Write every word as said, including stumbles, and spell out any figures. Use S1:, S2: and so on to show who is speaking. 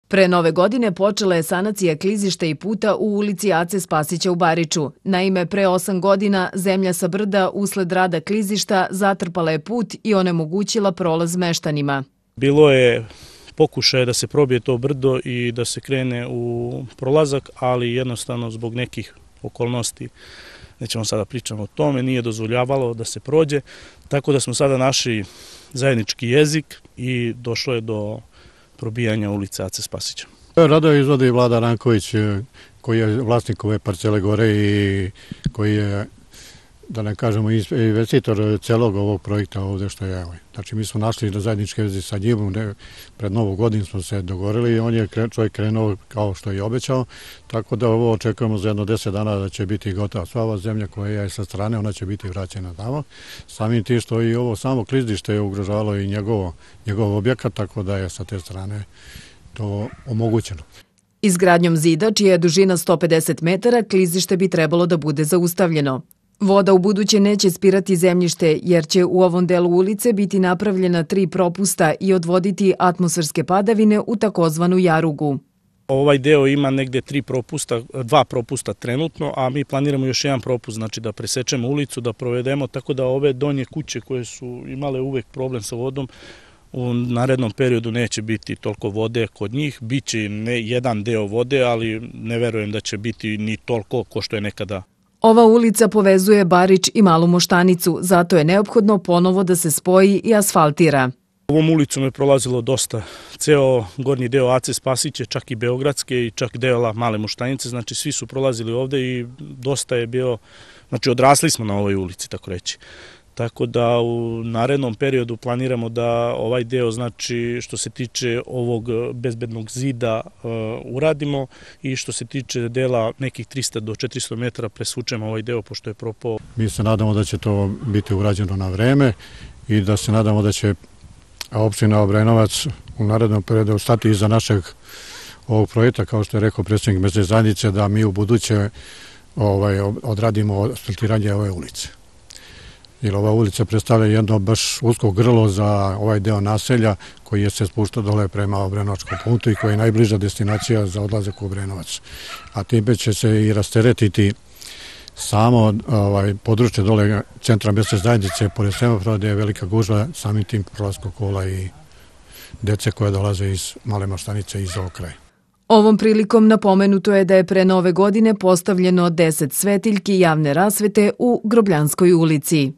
S1: Pre nove godine počela je sanacija klizišta i puta u ulici Ace Spasića u Bariču. Naime, pre osam godina zemlja sa brda usled rada klizišta zatrpala je put i onemogućila prolaz meštanima.
S2: Bilo je pokušaj da se probije to brdo i da se krene u prolazak, ali jednostavno zbog nekih okolnosti, nećemo sada pričamo o tome, nije dozvoljavalo da se prođe, tako da smo sada našli zajednički jezik i došlo je do probijanja ulice Ace Spasića.
S3: Radove izvodi Vlada Ranković, koji je vlasnik ove parcele gore i koji je, da ne kažemo, investitor celog ovog projekta ovde što je. Znači, mi smo našli da zajednički jezik sa njim, pred novu godinu smo se dogovorili i on je čovjek krenuo kao što je obećao, tako da ovo očekujemo za jedno deset dana da će biti gotova. Sva ova zemlja koja je sa strane, ona će biti vraćena tamo. Samim tim što i ovo samo klizište je ugrožavalo i njegovo, njegov objekat, tako da je sa te strane to omogućeno.
S1: Izgradnjom zida, čija je dužina sto pedeset metara, klizište bi trebalo da bude zaustavljeno. Voda u buduće neće spirati zemljište jer će u ovom delu ulice biti napravljena tri propusta i odvoditi atmosferske padavine u takozvanu jarugu.
S2: Ovaj deo ima negde tri propusta, dva propusta trenutno, a mi planiramo još jedan propust, znači da presečemo ulicu, da provedemo, tako da ove donje kuće koje su imale uvek problem sa vodom, u narednom periodu neće biti toliko vode kod njih, biće ne jedan deo vode, ali ne verujem da će biti ni toliko ko što je nekada.
S1: Ova ulica povezuje Barič i Malu Moštanicu, zato je neophodno ponovo da se spoji i asfaltira.
S2: Ovom ulicom je prolazilo dosta, ceo gornji deo Ace Spasiće, čak i Beogradske i čak dela Male Moštanice, znači svi su prolazili ovde i dosta je bio, znači odrasli smo na ovoj ulici, tako reći. Tako da u narednom periodu planiramo da ovaj deo, znači što se tiče ovog bezbednog zida uh, uradimo i što se tiče dela nekih trista do četiristo metara presvučemo ovaj deo pošto je propao.
S3: Mi se nadamo da će to biti urađeno na vreme i da se nadamo da će opština Obrenovac u narednom periodu stati iza našeg ovog projekta, kao što je rekao predsjednik mesne zajednice, da mi u buduće ovaj, odradimo asfaltiranje ove ulice. Jer ova ulica predstavlja jedno baš usko grlo za ovaj deo naselja koji je se spušta dole prema Obrenovačkom putu i koji je najbliža destinacija za odlazak u Obrenovac. A time će se i rasteretiti samo ovaj, područje dole centra mesne zajednice, pored semafora gde je velika gužva, samim tim prolazkog kola i dece koje dolaze iz Male Moštanice i iz ovog kraja.
S1: Ovom prilikom napomenuto je da je pre nove godine postavljeno deset svetiljki javne rasvete u Grobljanskoj ulici.